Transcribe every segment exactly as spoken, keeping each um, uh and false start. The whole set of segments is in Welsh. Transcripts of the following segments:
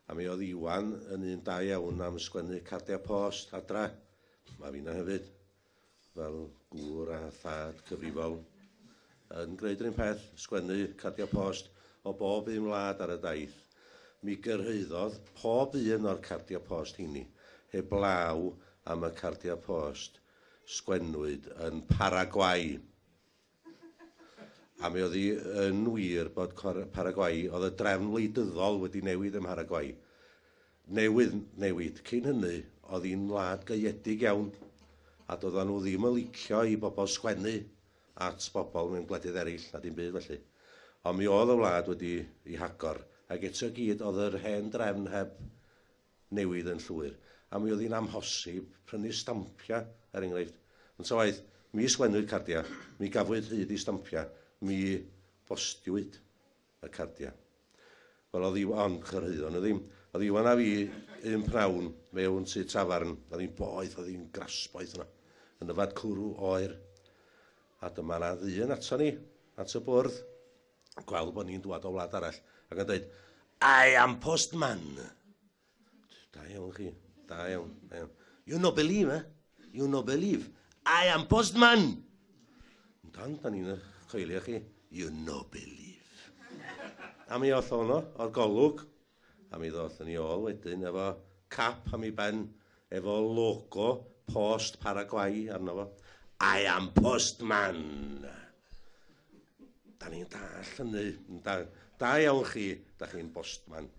A mi oedd Iwan yn un da iawn am sgwennu cardiau post adra. Mae finna hefyd, fel gŵr a thad cyfrifol, yn gwneud yr un peth, sgwennu cardiau post o bob un wlad ar y daith. Mi gyrhaeddodd pob un o'r cardiau post heini, heblaw am y cardiau post sgwennwyd yn Paraguay. A mi oedd hi yn wir bod Paraguay, oedd y drefn wleidyddol wedi newid ym Mharaguay. Newydd newid. Cyn hynny, oedd hi'n wlad gaeedig iawn, a doedden nhw ddim yn licio i bobl sgwennu at bobl mewn gwledydd eraill na dim byd felly. Ond mi oedd y wlad wedi ei hagor, ac eto gyd oedd yr hen drefn heb newid yn llwyr. A mi oedd hi'n amhosib prynu stampiau, er enghraifft. Ond ta waeth, mi sgwennwyd cardiau, mi gafwyd hyd i stampiau, mi bostiwyd y cardiau. Wel, oedd Iwan, chyrhaeddon nhw ddim. Oedd Iwan a fi un pnawn mewn tŷ tafarn, oedd hi'n boeth, oedd hi'n grasboeth yna, yn yfad cwrw oer. A dyma na ddyn ato ni, at y bwrdd, gweld bod ni'n dŵad o wlad arall, ac yn dweud, "I am postman." Da iawn chi, da iawn, da iawn. "You no believe, eh? You no believe. I am postman." Dan, da ni'n coelio chi. "You no believe." A mi oedd ono o'r golwg, a mi ddoth yn ei ôl wedyn efo cap am ei ben, efo logo Post Paraguay arno fo. "I am postman." Da ni'n dall hynny. Da, da iawn chi, da chi'n postman.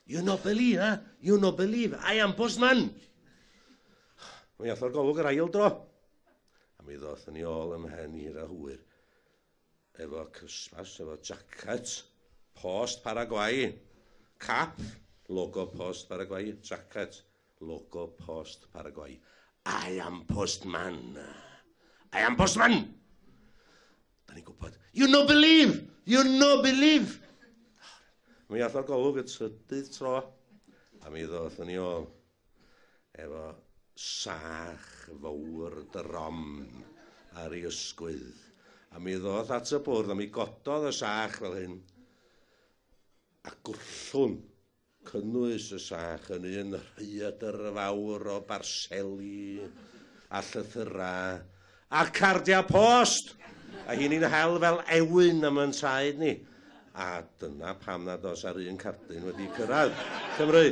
"You no believe, eh? You no believe. I am postman." Mi ath o'r golwg yr ail dro. A mi ddoth yn ei ôl ymhen hir a hwyr. Efo crysfas, efo jacket, Post Paraguay, cap, logo Post Paraguay, jacket, logo Post Paraguay. "I am postman. I am postman." Da ni'n gwybod. "You no believe! You no believe!" Mi ath o'r golwg y trydydd tro, a mi ddoth yn ei ôl efo sach fawr drom ar ei ysgwydd. A mi ddoth at y bwrdd, a mi gododd y sach fel hyn, a gwllwn cynnwys y sach yn un rhaeadr fawr o barseli a llythyrau a cardiau post. A hi'n hel fel ewyn am yn traed ni. A dyna pam nad oes ar un cardyn wedi cyrraedd Cymru.